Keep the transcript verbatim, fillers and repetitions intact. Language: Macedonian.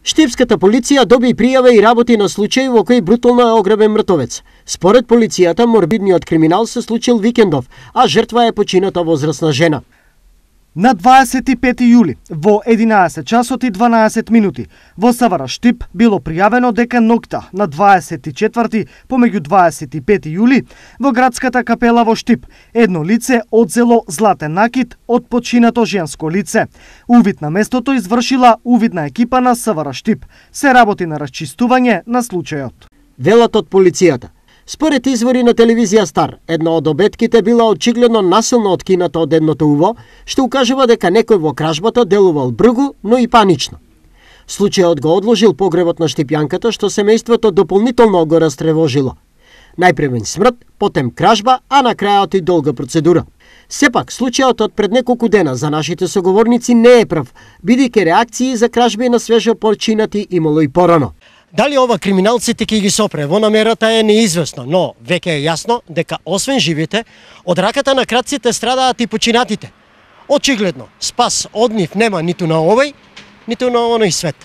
Штипската полиција доби пријава и работи на случај во кој брутално е ограбен мртовец. Според полицијата, морбидниот криминал се случил викендов, а жртва е почината возрасна жена. На дваесет и пети јули во единаесет часот и дванаесет минути во Савара Штип било пријавено дека ноќта на дваесет и четврти помеѓу дваесет и пети јули во градската капела во Штип едно лице одзело златен накит од починато женско лице. Увид на местото извршила увидна екипа на Савара Штип. Се работи на расчистување на случајот. Велат од полицијата. Според извори на телевизија Стар, една од обетките била очигледно насилно откината од едното уво, што укажува дека некој во кражбата делувал бргу, но и панично. Случајот го одложил погребот на штипјанката, што семејството дополнително го растревожило. Најпревен смрт, потем кражба, а на крајот и долга процедура. Сепак, случајот од пред неколку дена за нашите соговорници не е прв, бидејќи реакции за кражби на свежо починати имало и порано. Дали ова криминалците ќе ги сопре во намерата е неизвестно, но веќе е јасно дека освен живите, од раката на крадците страдаат и починатите. Очигледно, спас од нив нема ниту на овој, ниту на оној свет.